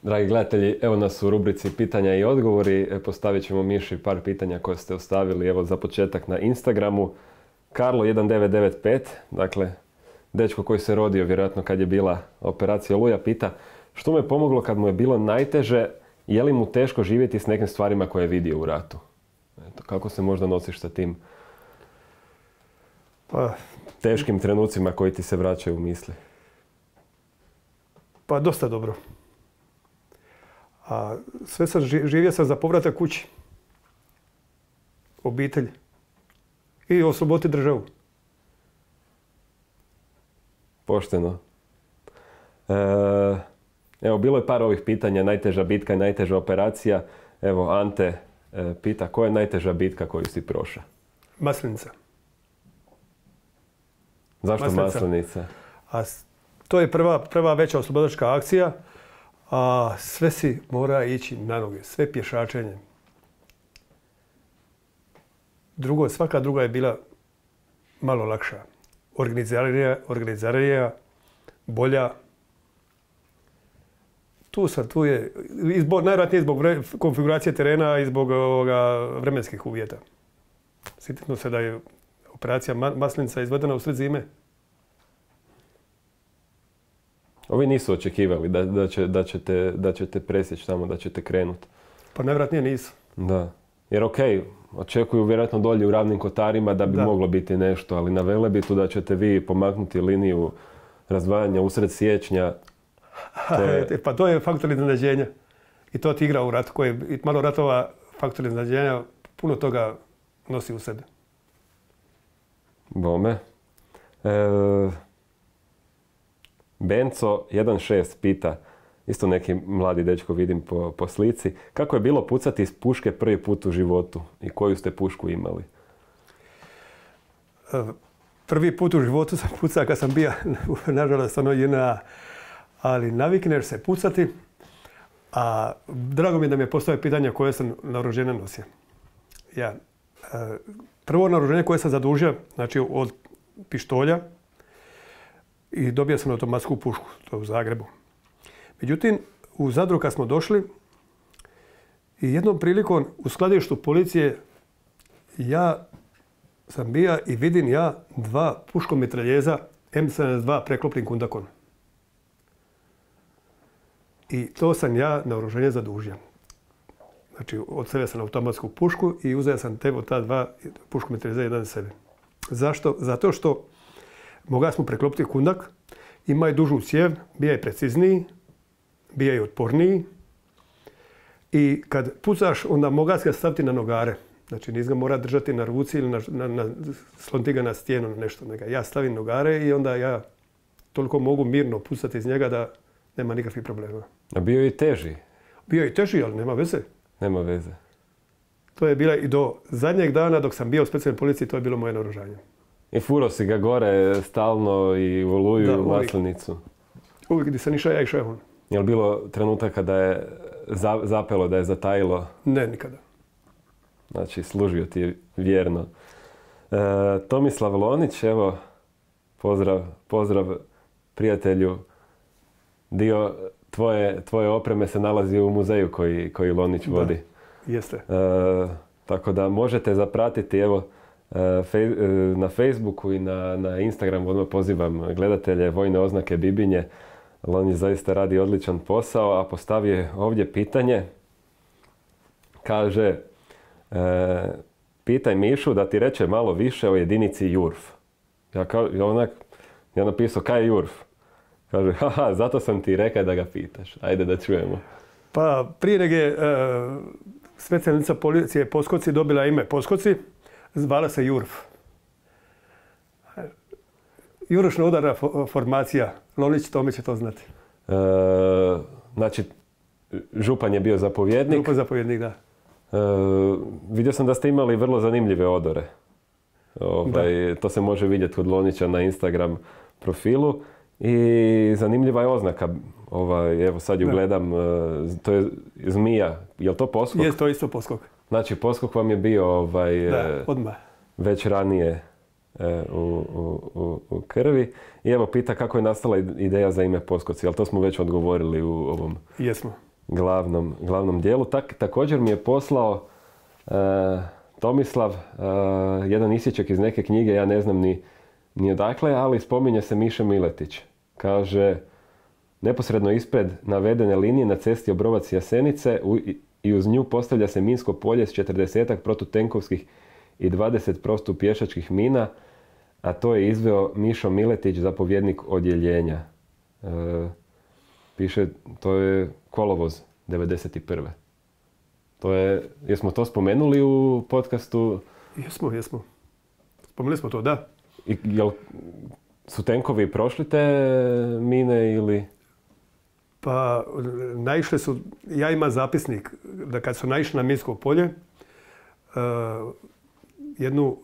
Dragi gledatelji, evo nas u rubrici pitanja i odgovori. Postavit ćemo Miši par pitanja koje ste ostavili evo za početak na Instagramu. Karlo1995, dakle, dečko koji se rodio vjerojatno kad je bila operacija Oluja, pita što mu je pomoglo kad mu je bilo najteže, je li mu teško živjeti s nekim stvarima koje je vidio u ratu? Eto, kako se možda nosiš sa tim teškim trenucima koji ti se vraćaju u misli? Pa dosta dobro. A sve sam živio sam za povratak kući. Obitelj. I osloboditi državu. Pošteno. Evo, bilo je par ovih pitanja, najteža bitka i najteža operacija. Evo, Ante pita, koja je najteža bitka koju si prošao? Maslenica. Zašto Maslenica? To je prva veća oslobodačka akcija, a sve si mora ići na noge, sve pješačenje. Svaka druga je bila malo lakša. Organizarija, bolja. Tu je, najvjerojatnije zbog konfiguracije terena i zbog vremenskih uvjeta. Sjetimo se da je operacija Maslenica izvedena u sred zime. Ovi nisu očekivali da ćete presjeći tamo, da ćete krenuti. Pa najvjerojatnije nisu. Da. Jer očekuju vjerojatno dolje u Ravnim Kotarima da bi moglo biti nešto, ali na Velebitu da ćete vi pomaknuti liniju razdvajanja usred siječnja. Pa to je faktor iznenađenja. I to ti igra u ratu, koji malo ratova faktor iznenađenja puno toga nosi u sebi. Bome. Benco 16 pita, isto neki mladi dečko vidim po slici, kako je bilo pucati iz puške prvi put u životu i koju ste pušku imali? Prvi put u životu sam pucao kad sam bio, nažalost, JNA, ali navikneš se pucati, a drago mi je da mi je postavio pitanje koje sam naoružanje nosio. Prvo naoružanje koje sam zadužio, znači od pištolja, i dobio sam automatsku pušku, to u Zagrebu. Međutim, u Zadru kad smo došli, i jednom prilikom u skladištu policije ja sam bio i vidim dva puškomitraljeza M72 preklopnim kundakom. I to sam ja naoružanje zadužio. Znači, odstavio sam automatsku pušku i uzeo sam ta dva puškomitraljeza jedan sebe. Zašto? Zato što mogli smo preklopiti kundak, ima je dužu cijev, bija je precizniji, bija je otporniji i kad pucaš onda mogla ga staviti na nogare. Znači nis ga mora držati na ruci ili sloniti ga na stijenu nešto. Ja stavim nogare i onda ja toliko mogu mirno pucati iz njega da nema nikakvih problema. A bio je i teži? Bio je i teži, ali nema veze. Nema veze. To je bila i do zadnjeg dana dok sam bio u specijalnoj policiji, to je bilo moje naoružanje. I furo si ga gore stalno i u Oluju i u Maslenicu? Uvijek gdje sam išao, ja išao on. Je li bilo trenutaka da je zapelo, da je zatajilo? Ne, nikada. Znači, služio ti je vjerno. Tomislav Lonić, evo, pozdrav prijatelju. Dio tvoje opreme se nalazi u muzeju koji Lonić vodi. Jeste. Tako da možete zapratiti, evo, na Facebooku i na Instagramu. Odmah pozivam gledatelje Vojne oznake Bibinje. Lonić zaista radi odličan posao, a postavio je ovdje pitanje. Kaže, pitaj Mišu da ti reče malo više o jedinici JURF. Ja napisao, kaj je JURF? Kaže, haha, zato sam ti rekao da ga pitaš. Ajde da čujemo. Pa prije nego je specijalnica policije Poskoci dobila ime Poskoci, zvala se JURF. Jurošna udarna formacija. Lonić Tomić će to znati. Znači, župan je bio zapovjednik. Župan zapovjednik, da. Vidio sam da ste imali vrlo zanimljive odore. To se može vidjeti kod Lonića na Instagram profilu. I zanimljiva je oznaka. Evo sad ju gledam. To je zmija. Je li to poskok? Je to isto poskok. Znači, poskok vam je bio odmah. Već ranije u krvi. I evo pita kako je nastala ideja za ime Poskoci. Ali to smo već odgovorili u ovom glavnom dijelu. Također mi je poslao Tomislav jedan isječak iz neke knjige, ja ne znam ni odakle, ali spominje se Miša Miletić. Kaže, neposredno ispred navedene linije na cesti Obrovac-Jasenice i uz nju postavlja se minsko polje s 40-ak protutenkovskih i 20 protupješačkih mina, a to je izveo Mišo Miletić, zapovjednik odjeljenja. Piše, to je kolovoz 91. Jesmo to spomenuli u podcastu? Jesmo. Spomenuli smo to, da. Jel su tenkovi prošli te mine ili? Pa, naišli su, ja imam zapisnik da kad su naišli na minsko polje, jednu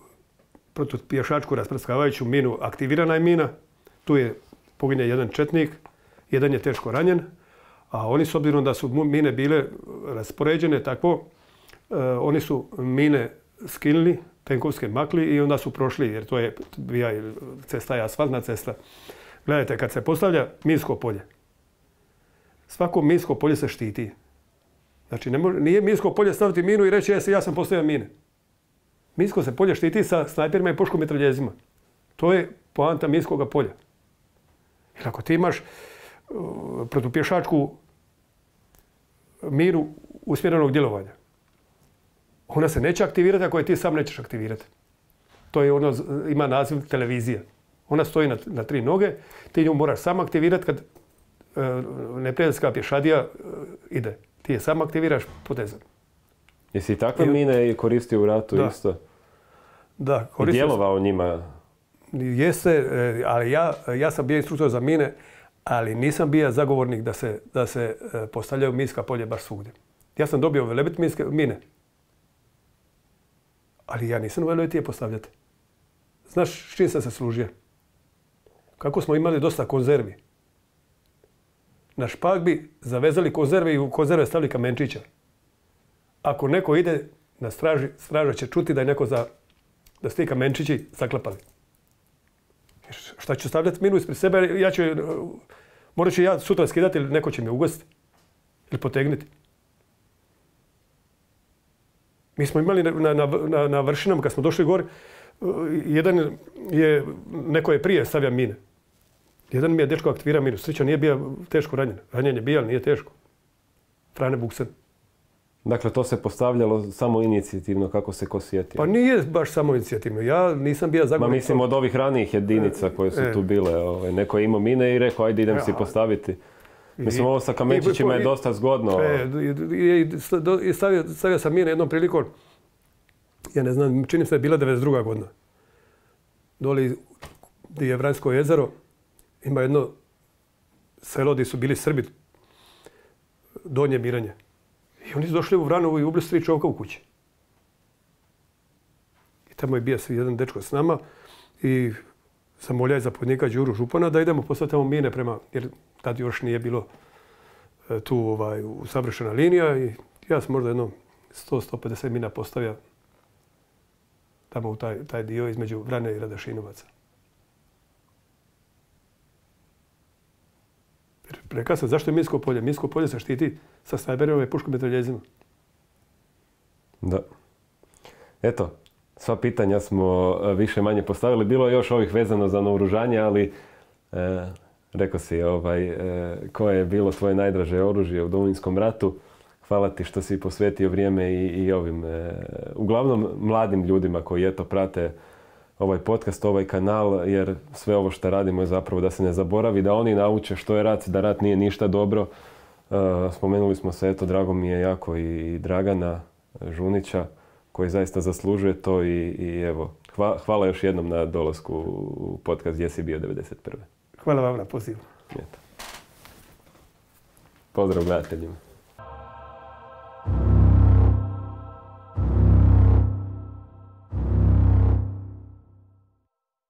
protupješačku rasprskavajuću minu, aktivirana je mina, tu je poginje jedan četnik, jedan je teško ranjen, a oni s obzirom da su mine bile raspoređene tako, oni su mine skinuli, tenkovske makli i onda su prošli, jer to je cesta je asfaltna cesta. Gledajte, kad se postavlja minsko polje, svako minsko polje se štiti. Znači, nije minsko polje staviti minu i reći ja sam postavio mine. Minsko se polje štiti sa snajperima i puškom mitraljezima. To je poanta minskoga polja. Jer ako ti imaš protupješačku minu usmjerenog djelovanja, ona se neće aktivirati ako je ti sam nećeš aktivirati. To je ima naziv televizija. Ona stoji na 3 noge, ti nju moraš sam aktivirati kad neprijateljska pješadija ide. Ti je sam aktiviraš potezom. Jesi takve mine koristio u ratu isto? Da, koristio. I djelovao njima? Jeste, ali ja sam bio instruktor za mine, ali nisam bio zagovornik da se postavljaju minska polje baš svugdje. Ja sam dobio velebit minske mine, ali ja nisam uvelo je postavljati. Znaš s čim sam se služio? Kako smo imali dosta konzervi. Na špak bi zavezali konzerve i u konzerve stavili kamenčića. Ako neko ide na straži, straža će čuti da je neko da su ti kamenčići zaklapali. Šta ću stavljati minu ispred sebe, morat ću ja sutra skidati ili neko će me ugostiti ili potegnuti. Mi smo imali na vršinama kad smo došli gore, neko je prije stavio mine. Jedan mi je dečko aktivirao minu. Sreća nije bio teško ranjen. Ranjen je bio, ali nije teško. Frane Buksen. Dakle, to se postavljalo samo inicijativno kako se ko sjetio? Pa nije baš samo inicijativno. Ja nisam bio zagovornik. Mislim od ovih ranijih jedinica koje su tu bile. Neko je imao mine i rekao ajde idem si postaviti. Mislim ovo sa kamenčićima je dosta zgodno. Stavio sam mine jednom prilikom, ja ne znam, čini se da je bila 92. godina. Doli gdje je Vranjsko jezero, ima jedno selo gdje su bili Srbi, Donje Miranje. I oni su došli u Vranovu i ubili 3 čovjeka u kući. I tamo je bio jedan dečko s nama i zamoljaj zapovjednika Đuru Župana da idemo postaviti tamo mine jer tad još nije bilo tu savršena linija i ja sam možda jedno 100-150 mina postavio tamo u taj dio između Vrane i Radašinovaca. Rekao sam, zašto je minsko polje? Minsko polje se štiti sa snajperima i puškom mitraljezima. Da. Eto, sva pitanja smo više manje postavili. Bilo je još ovih vezano za naoružanje, ali rekao si koje je bilo tvoje najdraže oružje u Domovinskom ratu. Hvala ti što si posvetio vrijeme i ovim, uglavnom mladim ljudima koji eto prate ovaj podcast, ovaj kanal, jer sve ovo što radimo je zapravo da se ne zaboravi, da oni nauče što je rat, da rat nije ništa dobro. Spomenuli smo se, eto, drago mi je jako i Dragana Žunića, koji zaista zaslužuje to i evo, hvala još jednom na dolasku u podcast Gdje si bio 91. Hvala vam na pozivu. Pozdrav gledateljima.